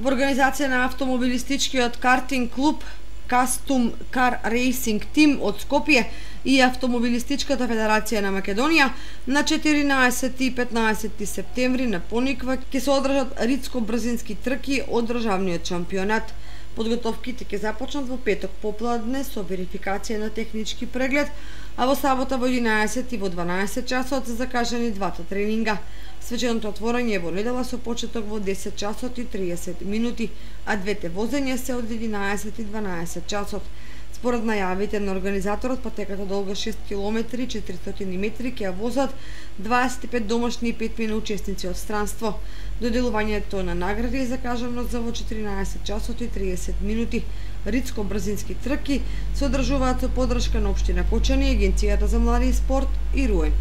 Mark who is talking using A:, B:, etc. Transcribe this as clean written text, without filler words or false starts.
A: Во организација на автомобилистичкиот картинг клуб Custom Car Racing Team од Скопје и Автомобилистичката федерација на Македонија на 14 и 15 септември на Пониква ќе се одржат ридско-брзински трки од државниот шампионат. Подготовките ќе започнат во петок попладне со верификација на технички преглед, а во сабота во 11 и во 12 часот се закажани двата тренинга. Свеченото отворање е во недела со почеток во 10 часот и 30 минути, а двете возења се од 11 и 12 часот. Според најавите на организаторот, патеката долга 6 км 400 метри ќе ја возат 25 домашни и 5 учесници од странство. Доделувањето на награди е закажано за во 14 часот и 30 минути. Ридско-брзински трки се одржуваат со поддршка на општина Кочани, Агенцијата за млади и спорт и РУЕ.